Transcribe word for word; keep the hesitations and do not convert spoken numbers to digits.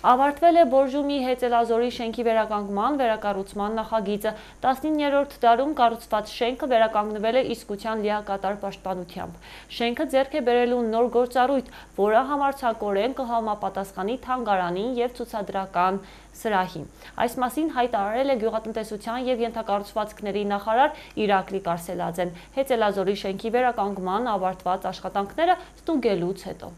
Ավարտվել է Բորժումի Հեծելազորի շենքի վերականգնման վերակառուցման նախագիծը։ տասնիններորդ դարում կառուցված շենքը վերականգնվել է իսկության լիակատար պաշտպանությամբ։ Շենքը ձեռք է բերելու նոր գործառույթ, որը համարձակորեն կհամապատասխանի թանգարանին և ցուցադրական սրահին։ Այս մասին հայտարարել է գյուղատնտեսության և ենթակառուցվածքների նախարար Իրակլի Կարսելաձեն Հեծելազորի շենքի վերականգնման ավարտված աշխատանքները ստուգելուց հետո։